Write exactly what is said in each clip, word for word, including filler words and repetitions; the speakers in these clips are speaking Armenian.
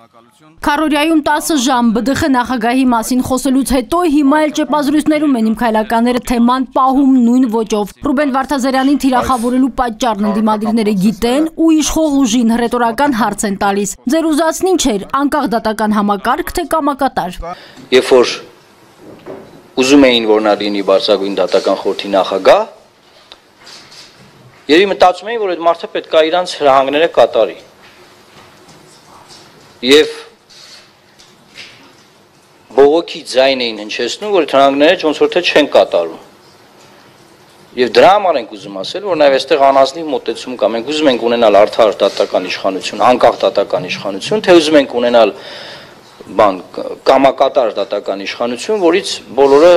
Քարորիայում տասը ժամ ԲԴԽ նախագահի մասին խոսելուց հետո հիմա էլ ճեպազրույցներում են իմ քայլականները թեման պահում նույն ոճով։ Ռուբեն Վարդազարյանին թիրախավորելու պատճառն ընդդիմադիրները գիտեն ու իշխող ուժին հռետորական հարց են տալիս։ Ձեր ուզածն ինչ էր, անկախ դատական համակարգ, թե կամակատար։ Երբ որ ուզում էին, որ նա լինի բարձրագույն դատական խորհրդի նախագահ, երևի մտածում էին, որ այդ մարդը պետք է իրանց հրահանգները կատարի։ Եվ բողոքի ձայն էին հնչեցնում, որ հրահանգները ոնց որ թե չեն կատարում։ Եվ դրա համար ենք ուզում ասել, որ նաև այստեղ անազնիվ մոտեցում կա։ Մենք ուզում ենք ունենալ արդար դատական իշխանություն, անկախ դատական իշխանություն, թե ուզում ենք ունենալ բան կամակատար դատական իշխանություն, որից բոլորը,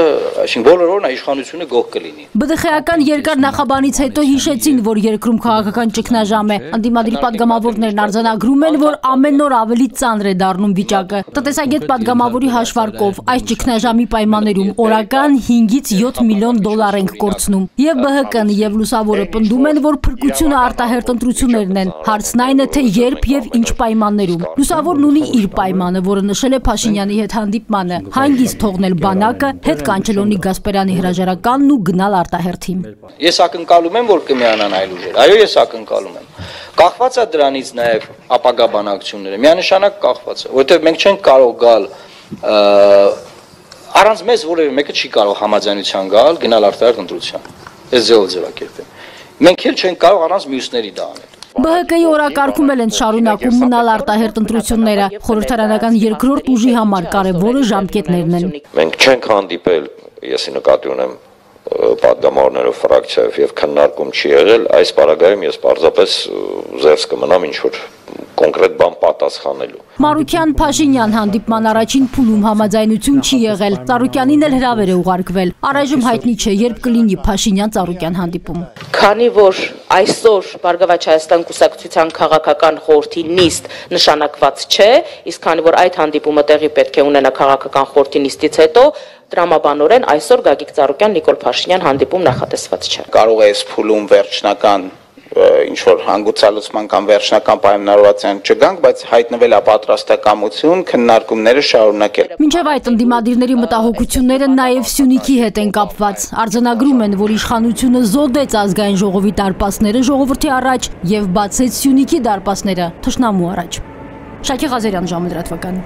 այսինքն բոլոր օրն իշխանությունը գող կլինի։ ԲԴԽ-ական երկար նախաբանից հետո հիշեցին, որ երկրում քաղաքական ճգնաժամ է։ Ընդդիմադիր պատգամավորներն արձանագրում են, որ ամեն օր ավելի ծանր է դառնում վիճակը։ Տնտեսագետ պատգամավորի հաշվարկով այս ճգնաժամի պայմաններում օրական հինգից յոթ միլիոն դոլար ենք կորցնում։ Եվ ԲՀԿ-ն եւ Լուսավորը պնդում են, որ փրկությունը արտահերտ ընտրություններն են։ Հարցն այն է, թե երբ եւ ինչ պայմաններում։ Լուսավորն ունի իր պայմանը, որը նշել է Փաշինյանի հետ հանդիպմանը, հանգիստ թողնել բանակը, հետ կանչել Գասպարյանի հրաժարականն ու գնալ արտահերթին։ Ես ակնկալում եմ, որ կմիանան այլ ուժեր։ Այո, ես ակնկալում եմ։ Կախված է դրանից նաև ապագա բանակցությունները, միանշանակ կախված է, որովհետև մենք չենք կարող գալ առանց մեզ որևէ մեկը չի կարող համաձայնության գալ, գնալ արտահերթ ընտրության։ Այս ձևով ձևակերպեմ։ Մենք էլ չենք կարող առանց մյուսների դա անել։ ԲՀԿ-ի օրակարգում էլ են շարունակում մնալ արտահերթ ընտրությունները, խորհրդարանական երկրորդ ուժի համար կարևորը ժամկետներն են։ Մենք չենք հանդիպել, եսի նկատի ունեմ պատգամավորներով ֆրակցիայով եւ քննարկում չի եղել, այս պարագայում ես պարզապես զերծ կմնամ ինչ որ կոնկրետ բան պատասխանելու։ Մանուկյան-Փաշինյան հանդիպման առաջին փուլում համաձայնություն չի եղել, Ծառուկյանին էլ հրավեր է ուղարկվել։ Առայժմ հայտնի չէ, երբ կլինի Փաշինյան-Ծառուկյան հանդիպում։ Քանի որ այսօր Բարգավաճ Հայաստան կուսակցության քաղաքական խորհրդի նիստ նշանակված չէ, իսկ քանի որ այդ հանդիպումը տեղի պետք է ունենա քաղաքական խորհրդի նիստից հետո, տրամաբանորեն այսօր Գագիկ Ծառուկյան Նիկոլ Փաշինյան հանդիպում նախատեսված չէ։ Կարող է այս փուլում վերջնական ինչ որ հանգուցալուծման կամ վերջնական պայմանավորվածության չգանք, բայց հայտնվել է պատրաստակամություն քննարկումները շարունակել։ Մինչև այդ ընդդիմադիրների մտահոգությունները նաև Սյունիքի հետ են կապված։ Արձանագրում են, որ իշխանությունը զոդեց ազգային ժողովի դարպասները ժողովրդի առաջ եւ բացեց Սյունիքի դարպասները թշնամու առաջ։ Շակե Ղազարյան, ժամը լրատվական։